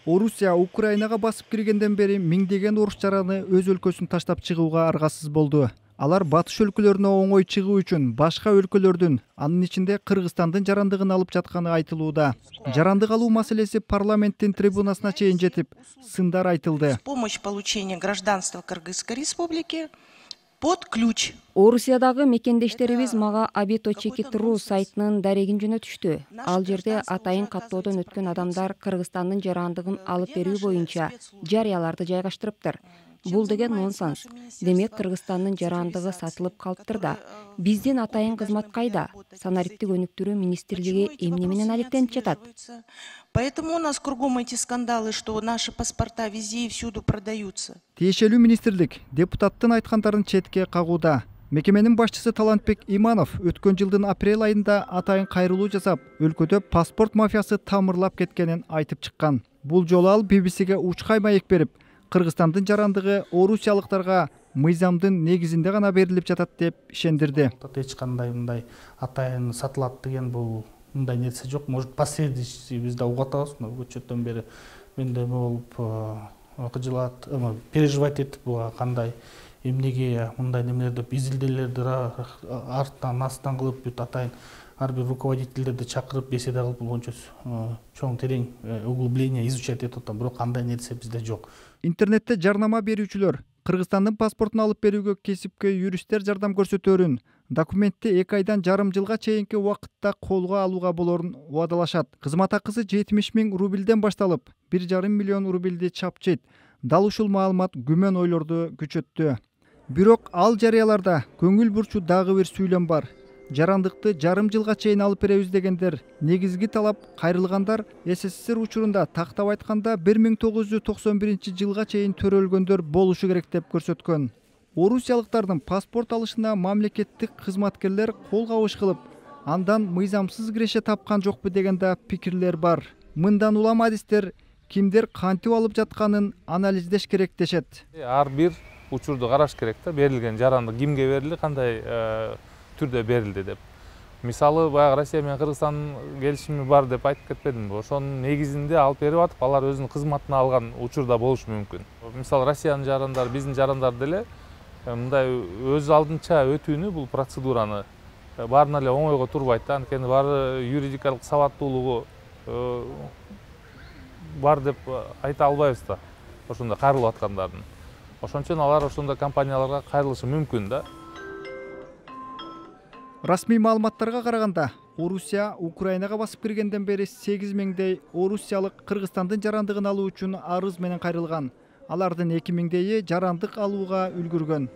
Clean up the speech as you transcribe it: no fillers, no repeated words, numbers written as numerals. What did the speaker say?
Орусия Украинага басып киргенден бери миңдеген орус жараны өз өлкөсүн таштап чыгууга аргасыз болду. Алар батыш өлкөлөрүнө оңой чыгуу үчүн башка өлкөлөрдүн, анын ичинде Кыргызстандын жарандыгын алып жатканы айтылууда. Жарандык алуу маселеси парламенттин трибунасына чейин жетип, сындар айтылды. Помощь получения гражданства Кыргызской республики под ключ. Орусиядагы мекендештерибиз мага Abito.ru сайтынын дарегин жөнөтүштү. Ал жерде атайын каттоодон өткөн адамдар Кыргызстандын жарандыгын алып берүү боюнча жарыяларды жайгаштырыптыр. Бул деген нонсенс. Демек Кыргызстандын жарандыгы сатылып калыптыр да. Биздин атайын кызмат кайда? Санариптик өнүктүрүү министрлиги эмне менен алектенип жатат? Поэтому у нас кругом эти скандалы, что наши паспорта везде и всюду продаются. Тиешелүү министрлик депутаттын айткандарын четке кагууда. Мекеменин башчысы Талантбек Иманов өткөн жылдын апрель айында атайын кайрылуу жасап, өлкөдө паспорт мафиясы тамырлап кеткенин айтып чыккан. Бул жолу ал BBC-ге учкай маек берип, Кыргызстандын жарандыгы орусиялыктарга мыйзамдын негизинде гана берилип жатат деп ишендирди. Эч кандай мындай атайын сатылат деген бул мындай нерсе жок. Может, посредничество биз да угуп атабыз, көчөттөн бери менде болуп кыжылат, переживать этип буга кандай эмнеге мындай немелер деп изилдөөлөрдү астан кылып бүт атайын ар бир руководительдерди чакырып беседа кылып бул боюнча чоң терең углубление изучать этип атам, бирок кандай нерсе бизде жок. Интернетте жарнама берүүчүлөр Кыргызстандын паспортун алып берүүгө кесипкөй юристтер жардам көрсөтөөрүн, документти 2 айдан жарым жылга чейинки убакытта колго алууга болоорун убадалашат. Кызмат акысы 70 000 рубльден башталып, 1,5 миллион рубльди чапчыйт. Дал ушул маалымат күмөн ойлорду күчөттү. Бирок ал жарыяларда көңүл бурчу дагы бир сүйлөм бар. Жарандыкты жарым жылга чейин алып беребиз дегендер, негизги талап кайрылгандар СССР учурунда тактап айтканда 1991 жылга чейин төрөлгөндөр болушу керек деп көрсөткөн. Орусиялыктардын паспорт алышына мамлекеттик кызматкерлер кол кабыш кылып, андан мыйзамсыз киреше тапкан жокпу деген да пикирлер бар. Мындан улам адистер кимдер кантип алып жатканын анализдеш керек дешет. Ар бир учурду караш керек да, берилген жарандык кимге берилди, кандай түрдө берилди деп. Мисалы, баягы Россия менен Кыргызстандын келишими бар деп айтып кетпедимби? Ошонун негизинде алып берип атып, алар өзүнүн кызматына алган учурда болушу мүмкүн. Мисалы, Россиянын жарандары, биздин жарандар деле мындай өз алдынча өтүүнү, бул процедураны баарына эле оңойго турбайт да, анткени баары юридикалык сабаттуулугу бар деп айта албайбыз да, ошондо кайрылып аткандардын. Ошон үчүн алар ошондой компанияларга кайрылышы мүмкүн да. Расмий маалыматтарга караганда, Орусия Украинага басып киргенден бери 8 000дей орусиялык Кыргызстандын жарандыгын алуу үчүн арыз менен кайрылган. Алардын 2 000дейи жарандык алууга үлгүргөн.